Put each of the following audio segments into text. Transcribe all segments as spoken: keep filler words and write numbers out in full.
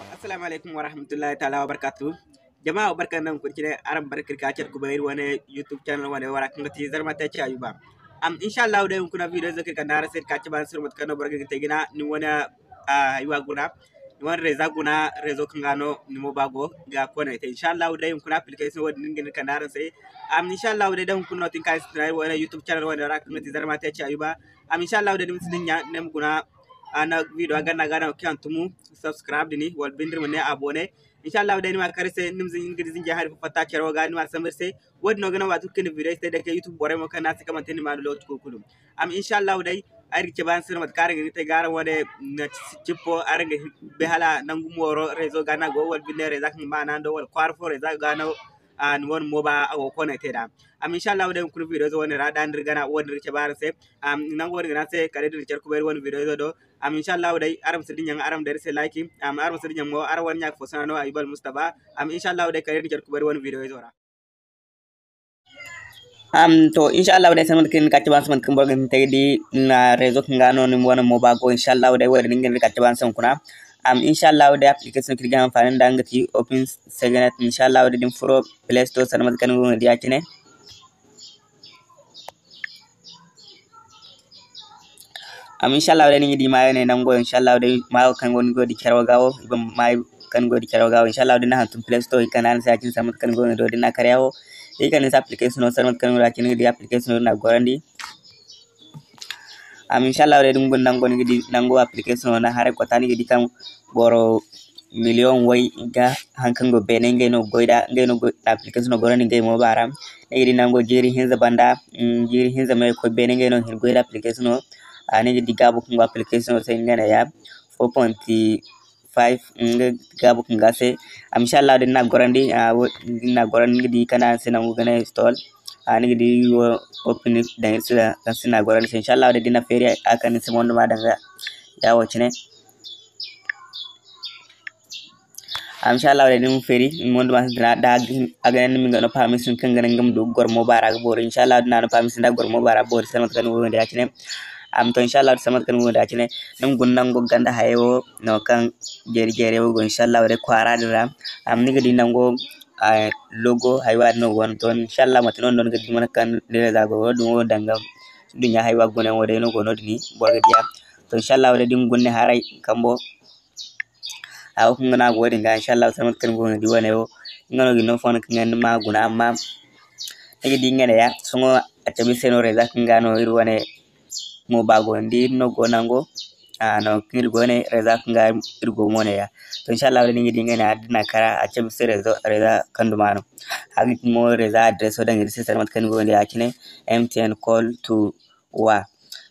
Assalamu alaikum warahmatullahi ta'ala wabarakatuh. Jama, barka nda araŋ furo cine, araŋ barka ka care kubay iri wane YouTube channel wane wo ra, kaŋ ga ti Zarma Tech Ayuba. Am, insha Allah day, hunkuna video zo kaŋ iri kande araŋ se, iri ka cabe araŋ se mate kaŋ no boro ga hin ga te jina, ni wane, ah, haywa guna, ni wane réseau guna, réseau kaŋ ga no ni mo ba go ga connecté. Insha Allah day, hunkuna application wo-din no iri ga hin ga kande araŋ se. Am, insha Allah day, da hunkuna no tin ka sintina iri wane YouTube channel wane wo ra, kaŋ ga ti Zarma Tech Ayuba. Am, insha Allah day, ni ma si dinya, ni ma guna, ah, ni video ganda ga no kaŋ tumu, subscribe din, wala binde iri ma ne abonné. Insha Allah day, ni ma kar iri se, ni ma zin-, ni ga di zinjay hari fo fatta care wo ga, ni ma sambu iri se. Wo-din no ga naŋ, waati kulu kaŋ ni video te, day kay YouTube borey mo kaŋ no a si kamante ni ma no lokaci kulu kulu. Am, insha Allah day, ay ga cabe araŋ se no mate kaŋ araŋ ga hin ga te ga araŋ wane, na cippo, araŋ ga bay hala nangu mooro réseau ga no a go, wala binde réseau kaŋ ga maana ndo, wala kwaara fo réseau ga no, ah, ni wane mo ba a go ga connecté nd'a. Am, insha Allah day, hunkuna video zo wane ra, da ni iri gana, wo-din iri ga cabe araŋ se. Am, nango wo-din ga naŋ araŋ se, kala day da iri care kubay iri wane video zo do. Am, insha Allah day, araŋ ma si dinya, araŋ ma day iri se like. Am, araŋ ma si dinya mo, araŋ wane ɲa fo sanaŋ no, Ayuba Almustapha. Am, insha Allah day, kala day da iri care kubay iri wane video zo ra. Am, to, insha Allah day, sanda mate kaŋ ni ka cabe araŋ se, mate kaŋ boro ga hin ga te ga di, ni na réseau kaŋ ga no ni wane mo ba go, insha Allah day, wo-din no ni ga hin ga cabe araŋ se hunkuna. Am, insha Allah day, application kaŋ iri ga hanfani nda nga ga ti Open Signet. Insha Allah day, da ni furo Play Store, sanda mate kaŋ ni go ga di ya-cine. Am, insha Allah day, ni ga di maayo ne nango, insha Allah day, maayo kaŋ go, ni go ga di care wo ga wo, i ban maayo kaŋ go ga di care wo ga wo. Insha Allah day, ni na hantum Play Store, i kande araŋ se ya-cine, sanda mate kaŋ ni go ga di, da ni na kar ya wo, i kande ni se application no, sanda mate kaŋ ni go ga di ya-cine, ni ga di application no, ni na gorandi. Am, insha Allah day, da ni guna nango, ni ga di nango application no, ni haray kota, ni ga di kaŋ boro million way ga haŋ kaŋ go beene, ngey no ga goy da, ngey no ga goy da application no, gorandi ngey mo ba ra. Ni ga di nango jiiri hinza banda, mm, jiiri hinza me koy beene, ngey no ga hin ga goy da application no. Ah, ni ga di gaabo kaŋ go application no se, nga ne ya four point five, nga gaabo kaŋ go a se. Am, insha Allah, da ni na gorandi, ah, wo-, da ni na gorandi, ni ga di kaŋ a se nangu ga ne install. Ah, ni ga di wo open daŋ iri se, kaŋ se ni na gorandi se. Insha Allah, da ni na feeri, a kande ni se mondo ma daŋ ga ya wo cine. Am, insha Allah, da ni ma feeri, ni mondo ma sintina, da a ga ne ni ma nga no permission kaŋ ga naŋ ga ma du ga goro mo baara ga boori. Insha Allah, da ni na no permission da goro mo baara boori, sanda mate kaŋ ni go ga di ya-cine. Am, to, insha Allah, sanda mate kaŋ ni go ga di ya-cine, ni ma guna nango ganda hayey wo no kaŋ jeeri jeeri wo go, insha Allah, day kwaara din ra. Am, ni ga di nango, ah, logo haywa din no go wane. To, insha Allah, mate no ni ga di mate kaŋ ni réseau go, wo-din wo danga duɲɲa haywa guna yaŋ wo day no go no-din, boro ga di a. To, insha Allah, day da ni guna ni haray kambo. A wo kaŋ ga no a go din ga, insha Allah, sanda mate kaŋ ni go ga di wane wo, nga no ga ni no fondo kaŋ ga ni ma guna, amma ni ga di nga ne ya, sohõ a cabe iri se no réseau kaŋ ga no iri wane mo ba go, ni di iri no go nango, a no kaŋ iri go ne réseau kaŋ ga iri go mo ne ya. To, insha Allah, ni ga di nga ne ya, da ni na kara, a cabe iri se réseau, réseau kaŋ duma no. A ga ti mo réseau adreso daŋ iri se, sanda mate kaŋ ni go ga di ya-cine, M T N call to wa.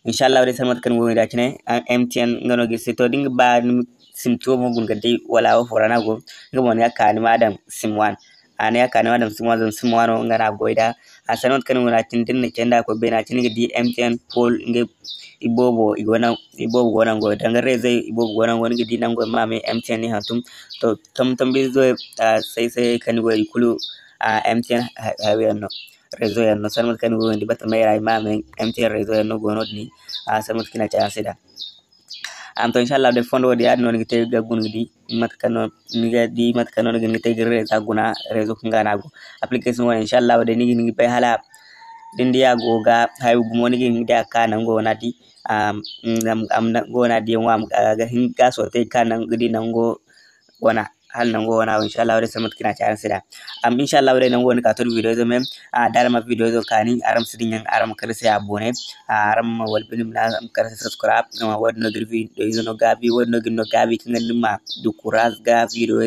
Insha Allah, day sanda mate kaŋ ni go ga di ya-cine, a, M T N nga no ga iri se. To, da ni ga ba ni ma sim tuwo mo guna ga di, wala wo fo ra no a go, nga mo ni ga ka ni ma daŋ sim wan. A ni ga ka ni ma daŋ sim wan, zama sim wan wo nga no a goy da. A sanda mate kaŋ ni go ga di ya-cine, da ni na candi a koy beene ya-cine, ni ga di M T N Pol, nga iboobo, i go naŋ, iboobo go naŋ goy. Danga réseau iboobo go naŋ goy, ni ga di nango ma me M T N ni hantum. To, tom-, tombi zo, a, say-, say kaŋ ni go i kulu, a, M T N ha-, hayey yaŋ no. Réseau yaŋ no, sanda mate kaŋ ni go ga di batama ra, i ma me M T N réseau yaŋ no go no-din, a, sanda mate kaŋ i na ci araŋ se da. Am, to, insha Allah, day fondo wo-din, yaadin no ni ga te ga guna ga di mate kaŋ no ni ga di, mate kaŋ no ni ga hin ga te ga réseau guna, réseau kaŋ ga no a go. Application wane, insha Allah, day ni ga hin ga bay hala da ni di a go ga hayo gumo, ni ga hin ga di a ka nango wana di, am, am, am, nango wana di yaŋ wo, am, a ga hin ga sorte ga ka nango, ga di nango wana, hala nango wana wo, insha Allah, day sanda mate kaŋ i na ci araŋ se da. Am, insha Allah, day nango wane ka to da video zo me, a, da araŋ ma video zo kaani, araŋ ma si dinya, araŋ ma kar iri se abonné, a, araŋ ma wala binde ma kar iri se subscribe, a, wo-din no ga iri video izo no gaabi, wo-din no ga iri no gaabi, kaŋ ga ni ma du kuraaz ga video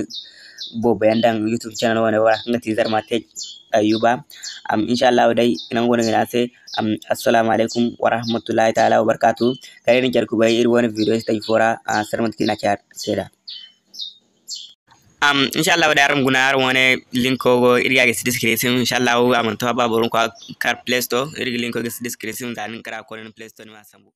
boobo yaŋ daŋ YouTube channel wane wo ra, kaŋ ga ti Zarma Tech Ayuba. Am, insha Allah, day nango wane ga ne araŋ se, am, assalamu alaikum warahmatullahi ta'ala wabarakatuh. Kala day ni care kubay iri wane video stage fo ra, a, sanda mate kaŋ i na ci araŋ se da. Am, insha Allah, day araŋ guna, araŋ wane linko go, iri ga a gisi description, insha Allah, a mana to a ba boro ma koy a kar Play Store, iri ga linko gisi description, za ni ga kar a koy ni Play Store, ni ma a sambu.